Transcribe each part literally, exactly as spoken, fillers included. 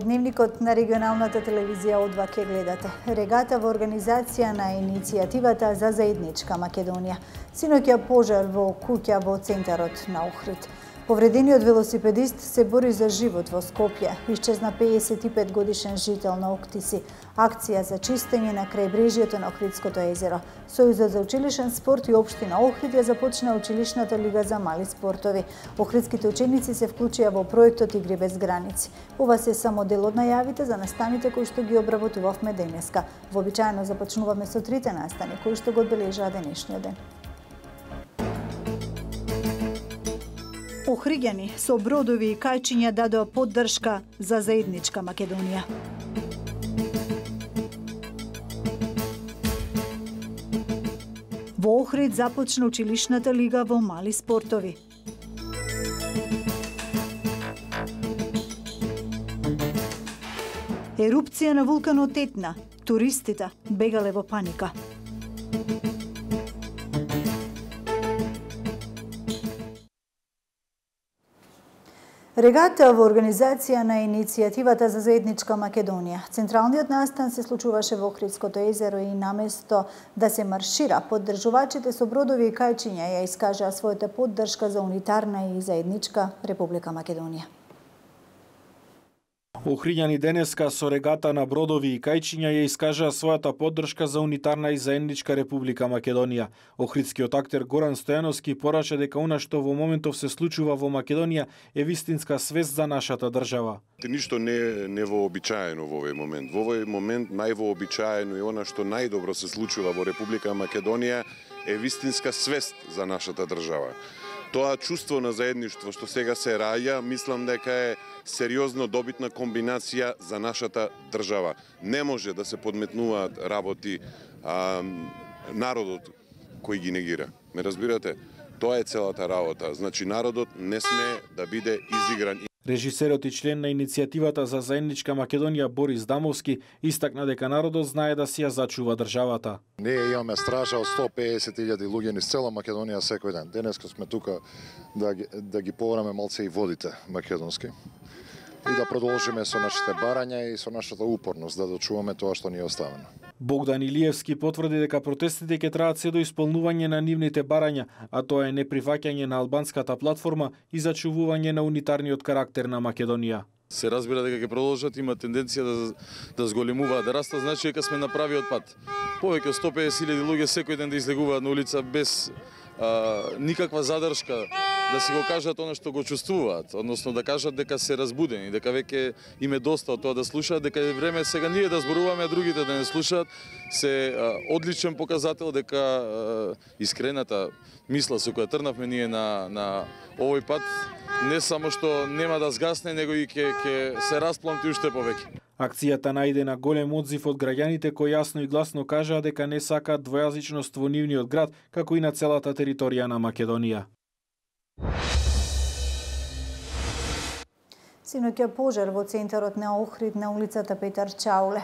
Дневникот на регионалната телевизија О два ќе гледате. Регата во организација на иницијативата за заедничка Македонија. Синоќа пожар во куќа во центарот на Охрид. Повредениот велосипедист се бори за живот во Скопје. Исчезна пеесет и пет годишен жител на Октиси. Акција за чистење на крајбрежјето на Охридското езеро. Сојузот за училишен спорт и општина Охрид ја започна училишната лига за мали спортови. Охридските ученици се вклучија во проектот Игри без граници. Ова се само дел од најавите за настаните кои што ги обработувавме денеска. Вообичаено започнуваме со трите настани кои што го одбележаа денешниот ден. Охриѓани со бродови и кајчиња дадоа поддршка за заедничка Македонија. Во Охрид започна училишната лига во мали спортови. Ерупција на вулканот Етна. Туристите бегале во паника. Регата во организација на иницијативата за заедничка Македонија. Централниот настан се случуваше во Охридското езеро и наместо да се маршира, поддржувачите со бродови и кајчиња ја искажаа својата поддршка за унитарна и заедничка Република Македонија. Охриѓани денеска со регата на бродови и кајчиња ја искажаа својата поддршка за унитарна и заедничка Република Македонија. Охридскиот актер Горан Стојановски порача дека она што во моментов се случува во Македонија е вистинска свест за нашата држава. Ништо не е невообичаено во овој момент. Во овој момент највообичаено е она што најдобро се случува во Република Македонија е вистинска свест за нашата држава. Тоа чувство на заедништво што сега се раѓа, мислам дека е сериозно добитна комбинација за нашата држава. Не може да се подметнуваат работи а, народот кој ги негира. Ме разбирате? Тоа е целата работа. Значи народот не сме да биде изигран. Режисерот и член на иницијативата за заедничка Македонија Борис Дамовски истакна дека народот знае да си ја зачува државата. Ние имаме стража од сто пеесет илјади луѓе низ цела Македонија секој ден. Денеска сме тука да ги, да ги повраме малце и водите македонски и да продолжиме со нашите барања и со нашата упорност да дочуваме тоа што ни е оставено. Богдан Илиевски потврди дека протестите ќе траат се до исполнување на нивните барања, а тоа е неприфаќање на албанската платформа и зачувување на унитарниот карактер на Македонија. Се разбира дека ќе продолжат, има тенденција да да зголемуваат, да растат, значи дека сме на правиот пат. Повеќе од сто пеесет илјади луѓе секој ден да излегуваат на улица без а, никаква задршка да си го кажат она што го чувствуваат, односно да кажат дека се разбудени, дека веќе им е доста од тоа да слушаат, дека е време сега ние да зборуваме, а другите да не слушаат, се а, одличен показател дека а, искрената мисла со која трнавме ние на на овој пат не само што нема да згасне, него и ќе ќе се распламти уште повеќе. Акцијата најде на голем одзив од граѓаните кои јасно и гласно кажаа дека не сакаат двојазичност во нивниот град, како и на целата територија на Македонија. Синоќа пожар во центарот на Охрид на улицата Петар Чауле.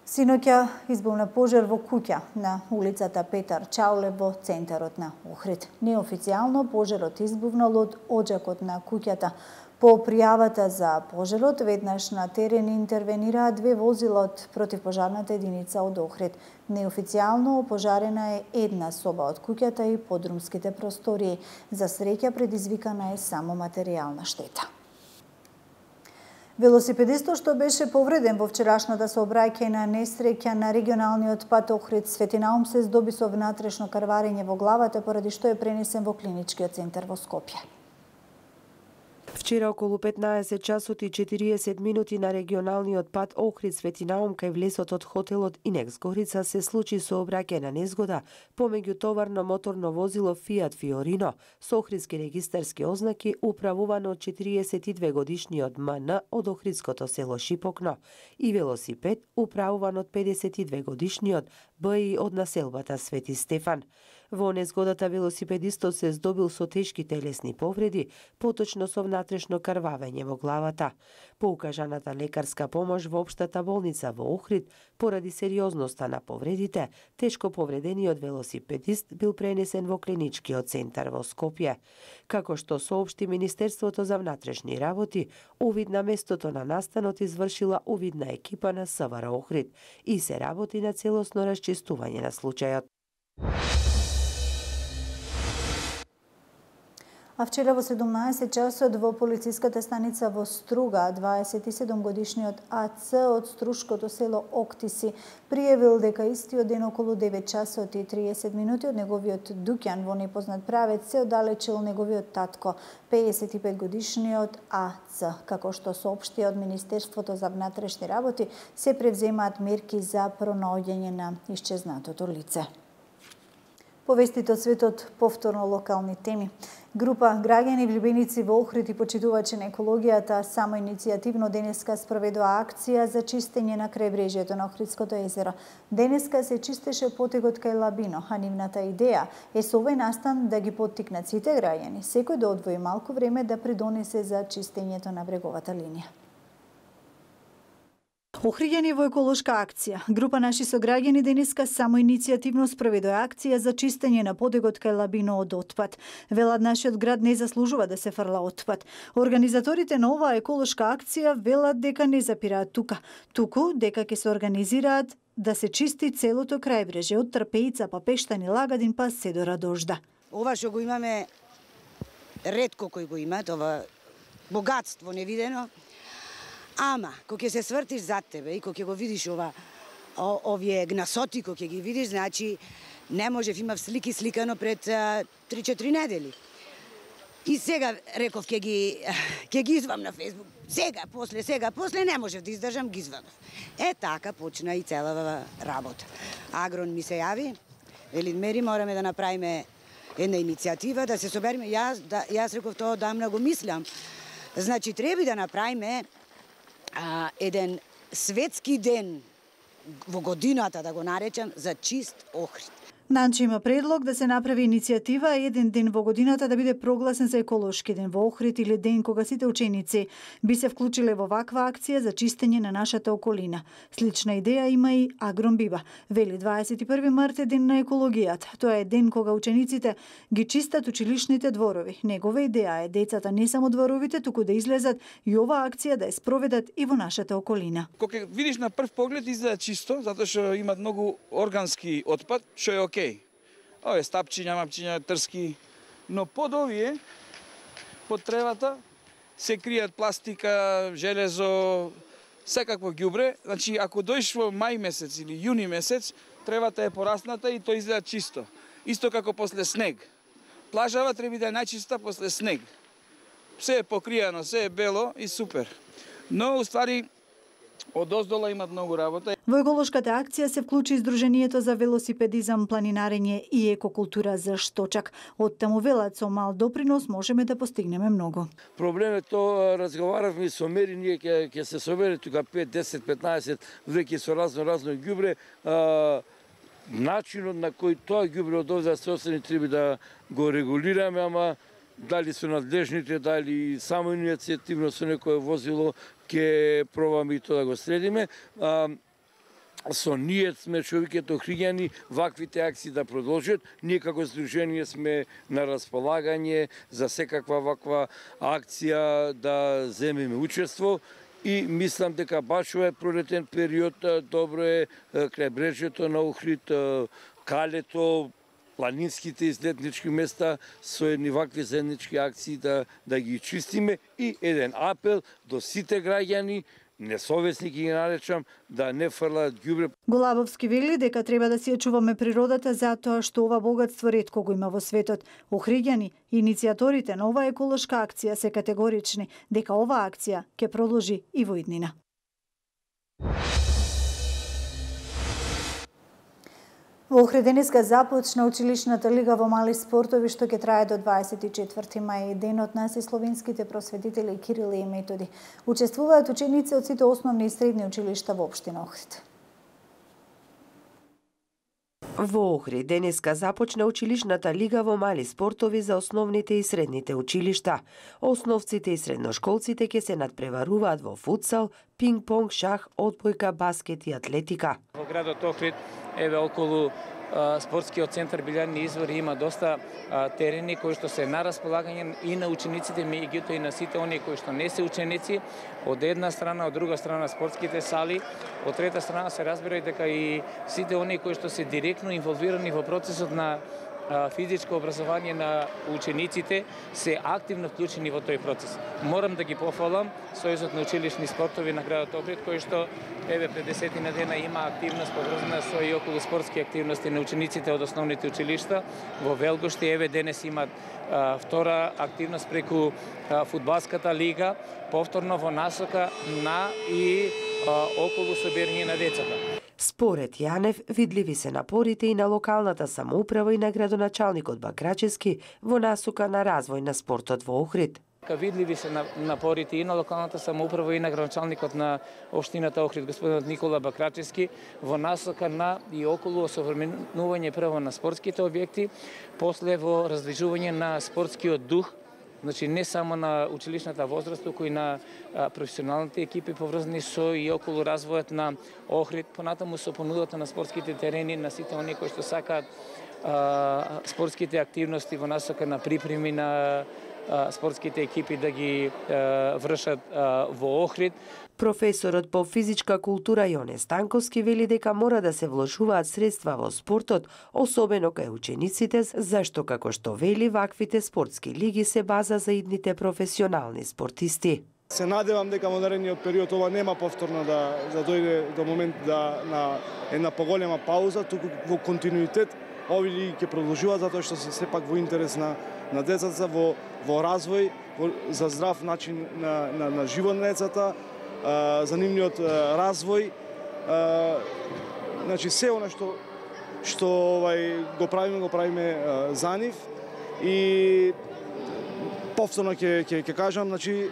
Синоќа избухна пожар во куќа на улицата Петар Чауле во центарот на Охрид. Неофицијално пожарот избухнал од оџакот на куќата. По пријавата за пожарот, веднаш на терен интервенираа две возила од противпожарната единица од Охрид. Неофицијално опожарена е една соба од куќата и подрумските простории. За среќа предизвикана е само материјална штета. Велосипедистот што беше повреден во вчерашната сообраќајна несреќа на регионалниот пат Охрид Свети Наум се здоби со внатрешно крварење во главата, поради што е пренесен во клиничкиот центар во Скопје. Вчера околу петнаесет часот и четириесет минути на регионалниот пат Охрид Свети Наум кај влесот од хотелот Инекс Горица се случи сообраќајна незгода помеѓу товарно моторно возило Фиат Фиорино со охридски регистарски ознаки управувано од четириесет и две годишниот М Н од охридското село Шипокно и велосипед управуван од педесет и две годишниот Б И од населбата Свети Стефан. Во незгодата велосипедистот се здобил со тешки телесни повреди, поточно со внатрешно крвавење во главата. По укажаната лекарска помош во општата болница во Охрид, поради сериозноста на повредите, тешко повредениот велосипедист бил пренесен во клиничкиот центар во Скопје. Како што соопшти Министерството за внатрешни работи, увид на местото на настанот извршила увидна екипа на СВР Охрид и се работи на целосно расчистување на случајот. А вчера во седумнаесет часот во полициската станица во Струга, дваесет и седум годишниот А Ц од струшкото село Октиси пријавил дека истиот ден околу девет часот и триесет минути од неговиот дуќан во непознат правец се оддалечил неговиот татко, пеесет и пет годишниот А Ц. Како што соопшти од Министерството за внатрешни работи, се превземаат мерки за пронаоѓање на исчезнатото лице. Повестите од светот, повторно локални теми. Група граѓани влюбеници во Охрид и почитувачи на екологијата самоиницијативно денеска спроведува акција за чистење на крајбрежјето на Охридското езеро. Денеска се чистеше потегот кај Лабино, а нивната идеја е со овој настан да ги поттикнат сите граѓани, секој да одвои малку време да придонесе за чистењето на бреговата линија. Охриѓани во еколошка акција. Група наши сограѓани денеска самоиницијативно спроведува акција за чистење на подегот кај Лабино од отпад. Велат нашиот град не заслужува да се фрла отпад. Организаторите на оваа еколошка акција велат дека не запираат тука, туку дека ќе се организираат да се чисти целото крајбрежје од Трпеица па Пештани, Лагадин па се до Радожда. Ова што го имаме ретко кој го имаат, ова богатство невидено. Ама, кога ќе се свртиш зад тебе и кога ќе го видиш ова, о, овие гнасоти, кога ќе ги видиш, значи не можев, имав слики сликано пред три-четири недели. И сега реков ќе ги ќе ги извам на Фејсбук. Сега, после, сега, после не можев да издржам, ги извадов. Е така почна и целава работа. Агрон ми се јави, вели Мери, мораме да направиме една иницијатива, да се собериме. Јас, да, јас реков тоа одамна го мислам. Значи треба да направиме А, еден светски ден во годината, да го наречам, за чист Охрид. Нанче има предлог да се направи иницијатива еден ден во годината да биде прогласен за еколошки ден во Охрид или ден кога сите ученици би се вклучиле во ваква акција за чистење на нашата околина. Слична идеја има и Агрон Биба. Вели дваесет и први март е ден на екологијата. Тоа е ден кога учениците ги чистат училишните дворови. Негова идеја е децата не само дворовите, туку да излезат и оваа акција да ја спроведат и во нашата околина. Кога видиш на прв поглед изгледа чисто, затоа што имат многу органски отпад, што е окей. Ове стапчиња, мапчиња, трски, но под овие, под тревата, се кријат пластика, железо, секакво ѓубре. Значи, ако дојдеш во мај месец или јуни месец, тревата е порасната и тоа изгледа чисто. Исто како после снег. Плажава треба да е најчиста после снег. Се е покријано, се е бело и супер. Но, уствари, од оздола имат многу работа. Во еколошката акција се вклучи Издруженијето за велосипедизам, планинарење и екокултура за Шточак. Од таму велат со мал допринос можеме да постигнеме многу. Проблемот тоа разговаравме со Мери, ние ќе ќе се собере тука пет, десет, петнаесет веќе со разно разно ѓубре. Начинот на кој тоа ѓубре од овде се осени треба да го регулираме, ама дали со надлежните, дали само иницијативно со некое возило, ќе пробаме и тоа да го следиме. А, со ние сме човеќето охриѓани ваквите акции да продолжат. Ние како здружение сме на располагање за секаква ваква акција да земеме учество и мислам дека баш овој пролетен период добро е крајбрежјето на Охрид, калето, планинските излетнички места со едни вакви заеднички акции да, да ги чистиме и еден апел до сите граѓани, несовесни ги наречам, да не фрлаат ѓубре. Голабовски вели дека треба да си ја чуваме природата затоа што ова богатство ретко го има во светот. Охриѓани, иницијаторите на оваа еколошка акција се категорични дека оваа акција ќе продолжи и во иднина. Во Охрид денеска започна училишната лига во мали спортови што ќе трае до дваесет и четврти мај, денот на словенските просветители Кирил и Методи. Учествуваат ученици од сите основни и средни училишта во општина Охрид. Во Охрид денеска започна училишната лига во мали спортови за основните и средните училишта. Основците и средношколците ќе се надпреваруваат во футсал, пинг-понг, шах, одбојка, баскет и атлетика. Во градот Охрид еве околу спортскиот центар Билјарни извори има доста а, терени кои што се на располагање и на учениците, меѓутоа и на сите оние кои што не се ученици. Од една страна, од друга страна спортските сали, од трета страна се разбира и дека и сите оние кои што се директно инволвирани во процесот на физичко образование на учениците се активно вклучени во тој процес. Морам да ги пофалам Сојузот на училишни спортови на градот Охрид, кој што еве пред десетина дена има активност поврзана со и околу спортски активности на учениците од основните училишта. Во Велгоште еве денес имат а, втора активност преку а, фудбалската лига, повторно во насока на и а, околу собирање на децата. Според Јанев, видливи се напорите и на локалната самоуправа и на градоначалникот Бакрачевски во насока на развој на спортот во Охрид. Видливи се напорите и на локалната самоуправа и на градоначалникот на општината Охрид, господинот Никола Бакрачевски, во насока на и околу осовременување прво на спортските објекти, после во различување на спортскиот дух, значи не само на училишната возраст, туку и на а, професионалните екипи поврзани со и околу развојот на Охрид, понатаму со понудата на спортските терени на сите оние кои што сакаат а, спортските активности во насока на припреми на а, спортските екипи да ги а, вршат а, во Охрид. Професорот по физичка култура Јоне Станковски вели дека мора да се вложуваат средства во спортот, особено кај учениците, зашто како што вели ваквите спортски лиги се база за идните професионални спортисти. Се надевам дека во наредниот период ова нема повторно да, да дојде до момент да на една поголема пауза, туку во континуитет овие лиги ќе продолжуваат затоа што се сепак во интерес на на децата, во во развој, во, за здрав начин на на, на живот на децата, за нивниот развој, значи се она што што овај го правиме, го правиме за нив и повторно ќе ќе ќе кажам, значи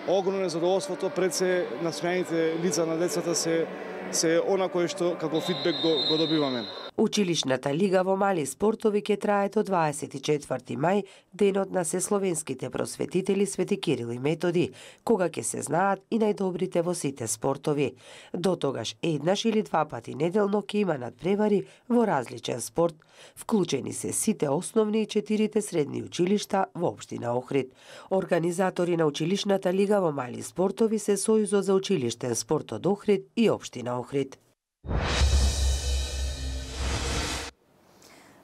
огромно задоволството пред се насмеаните лица на децата се се она кое што како фидбек го, го добиваме. Училишната лига во мали спортови ќе трае до дваесет и четврти мај, денот на сесловенските просветители Свети Кирил и Методи, кога ќе се знаат и најдобрите во сите спортови. До тогаш еднаш или два пати неделно ќе има надпревари во различен спорт. Вклучени се сите основни и четирите средни училишта во општина Охрид. Организатори на училишната лига во мали спортови се Сојузот за училиштен спорт од Охрид и општина Охрид.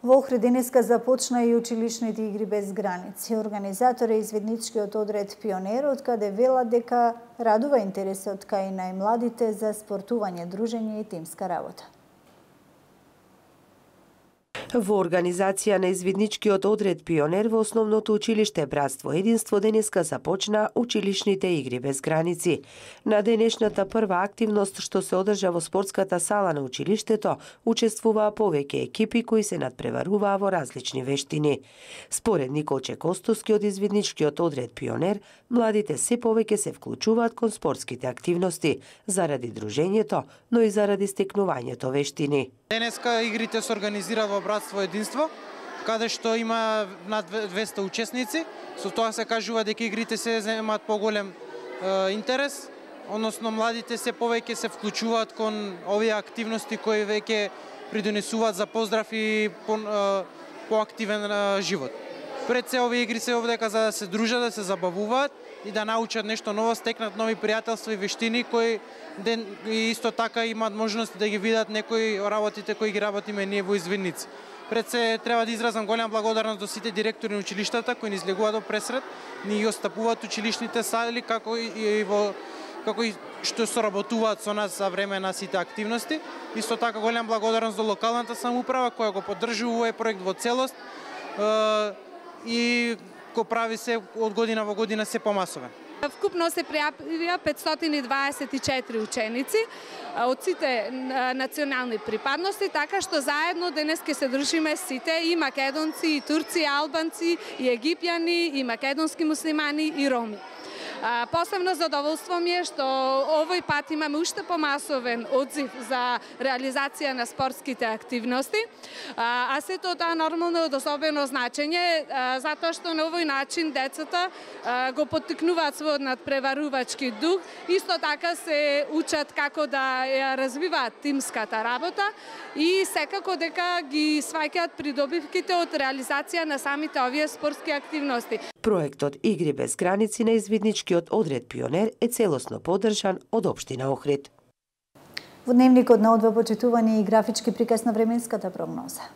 Во Охрид денеска започна и училишните игри без граници. Организатор е изведничкиот одред Пионер, од каде велат дека радува интересот кај најмладите за спортување, дружење и тимска работа. Во организација на извидничкиот одред Пионер во основното училиште Братство Единство денеска започна училишните игри без граници. На денешната прва активност што се одржа во спортската сала на училиштето, учествуваа повеќе екипи кои се надпреваруваа во различни вештини. Според Николче Костовски од извидничкиот одред Пионер, младите се повеќе се вклучуваат кон спортските активности заради дружењето, но и заради стекнувањето вештини. Денеска игрите се организира во Братство Единство, каде што има над двесте учесници. Со тоа се кажува дека игрите се земаат поголем е, интерес, односно младите се повеќе се вклучуваат кон овие активности кои веќе придонесуваат за поздрав и по, е, поактивен е, живот. Пред се овие игри се овдека за да се дружат, да се забавуваат и да научат нешто ново, стекнат нови пријателства и вештини кои ден и исто така имаат можност да ги видат некои работите кои ги работиме ние во извидници. Пред се треба да изразам голема благодарност до сите директори на училиштата кои ни излегуваат до пресред, ни ги остапуваат училишните сали како и во како и што соработуваат со нас за време на сите активности. Исто така голема благодарност до локалната самоуправа која го поддржува овој проект во целост и го прави се од година во година се помасовен. Вкупно се пријавија петстотини и дваесет и четири ученици од сите национални припадности, така што заедно денес ќе се дружиме сите, и македонци, и турци, и албанци, и египјани, и македонски муслимани, и роми. Посебно задоволство ми е што овој пат имаме уште помасовен одзив за реализација на спортските активности, а сето тоа нормално од особено значење, затоа што на овој начин децата го поттикнуваат својот надпреварувачки дух, исто така се учат како да ја развиваат тимската работа и секако дека ги сваќаат придобивките од реализација на самите овие спортски активности. Проектот Игри без граници на извидничкиот одред Пионер е целосно поддржан од општина Охрид. Во дневникот на одва почитувани и графички приказ на временската прогноза.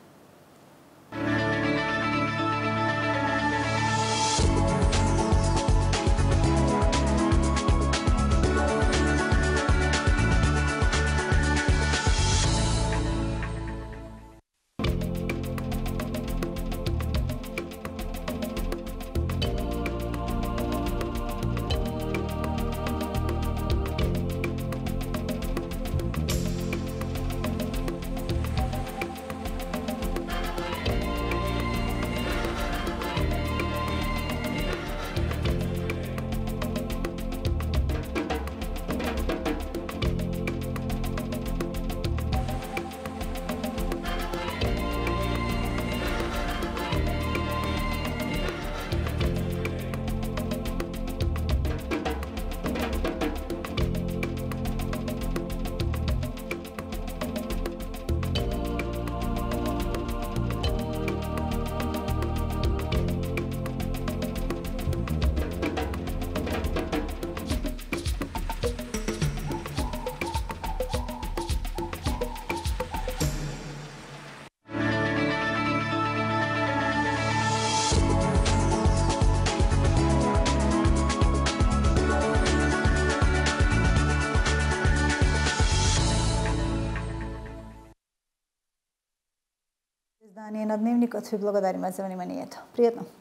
Издание на Дневникот ви благодариме за вниманието. Пријатно!